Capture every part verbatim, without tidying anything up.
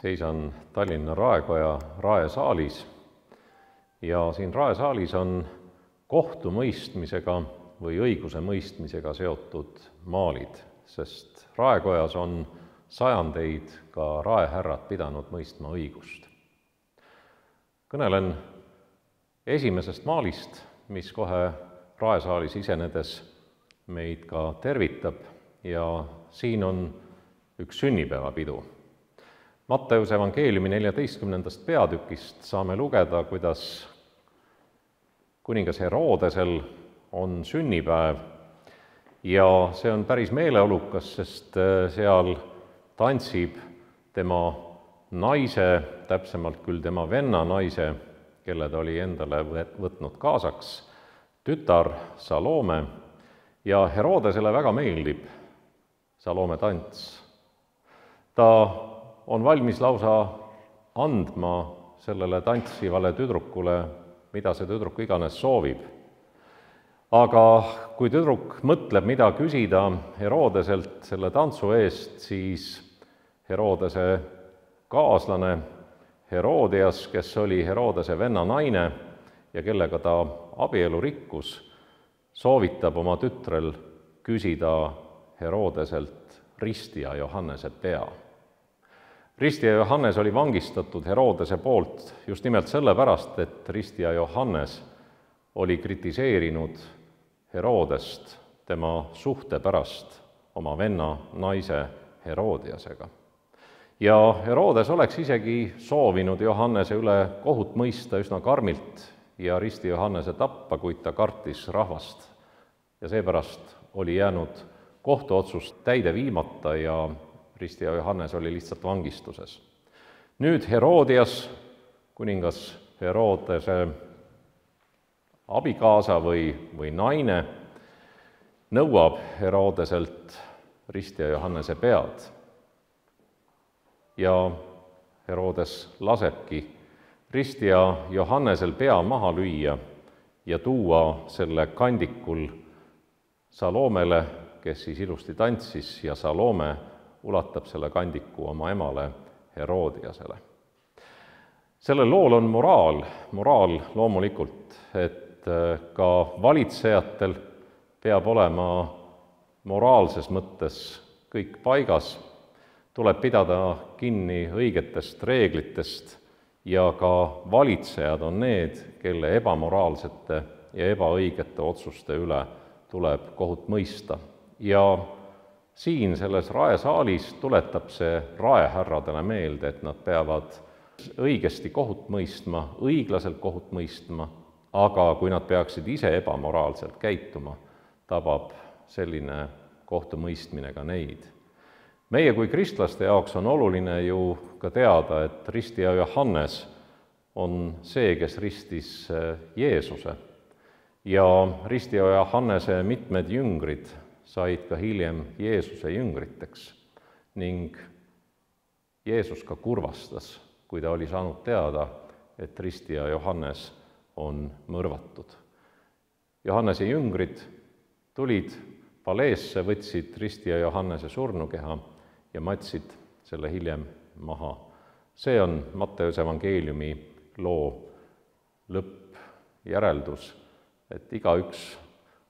Seisan Tallinna Raekoja raesaalis ja siin raesaalis on kohtumõistmisega või õigusemõistmisega seotud maalid, sest raekojas on sajandeid ka raehärrad pidanud mõistma õigust. Kõnelen esimesest maalist, mis kohe raesaalis isenedes meid ka tervitab, ja siin on üks sünnipäevapidu. Matteuse evangeeliumi neljateistkümnendast peatükist saame lugeda, kuidas kuningas Herodesel on sünnipäev ja see on päris meeleolukas, sest seal tantsib tema naise, täpsemalt küll tema venna naise, kelle ta oli endale võtnud kaasaks, tütar Salome, ja Herodesele väga meeldib Salome tants. Ta on valmis lausa andma sellele tantsivale tüdrukule, mida see tüdruk iganes soovib. Aga kui tüdruk mõtleb, mida küsida Herodeselt selle tantsu eest, siis Herodese kaaslane Herodias, kes oli Herodese venna naine ja kellega ta abielu rikkus, soovitab oma tütrel küsida Herodeselt ristija Johannese pea. Ristija Johannes oli vangistatud Herodese poolt just nimelt sellepärast, et ristija Johannes oli kritiseerinud Herodest tema suhte pärast oma venna naise Herodiasega. Ja Herodes oleks isegi soovinud Johannese üle kohut mõista üsna karmilt ja risti Johannese tappa, kuid ta kartis rahvast. Ja seepärast oli jäänud kohtuotsust täide viimata ja ristija Johannes oli lihtsalt vangistuses. Nüüd Herodias, kuningas Herodese abikaasa või, või naine, nõuab Herodeselt ristija Johannese pead. Ja Herodes lasebki ristija Johannesel pea maha lüüa ja tuua selle kandikul Salomele, kes siis ilusti tantsis, ja Salome ulatab selle kandiku oma emale Herodiasele. Sellel lool on moraal, moraal loomulikult, et ka valitsejatel peab olema moraalses mõttes kõik paigas, tuleb pidada kinni õigetest reeglitest ja ka valitsejad on need, kelle ebamoraalsete ja ebaõigete otsuste üle tuleb kohut mõista. Ja siin selles raesaalis tuletab see raehärradele meelde, et nad peavad õigesti kohut mõistma, õiglaselt kohut mõistma, aga kui nad peaksid ise ebamoraalselt käituma, tabab selline kohtumõistmine ka neid. Meie kui kristlaste jaoks on oluline ju ka teada, et ristija Johannes on see, kes ristis Jeesuse, ja ristija Johannese mitmed jüngrid said ka hiljem Jeesuse jüngriteks ning Jeesus ka kurvastas, kui ta oli saanud teada, et ristija Johannes on mõrvatud. Johannese jüngrid tulid paleesse, võtsid ristija Johannese surnukeha ja matsid selle hiljem maha. See on Matteuse evangeeliumi loo lõppjäreldus, et igaüks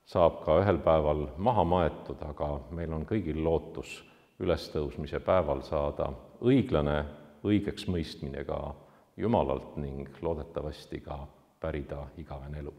saab ka ühel päeval maha maetud, aga meil on kõigil lootus ülestõusmise päeval saada õiglane õigeks mõistmine ka Jumalalt ning loodetavasti ka pärida igavene elu.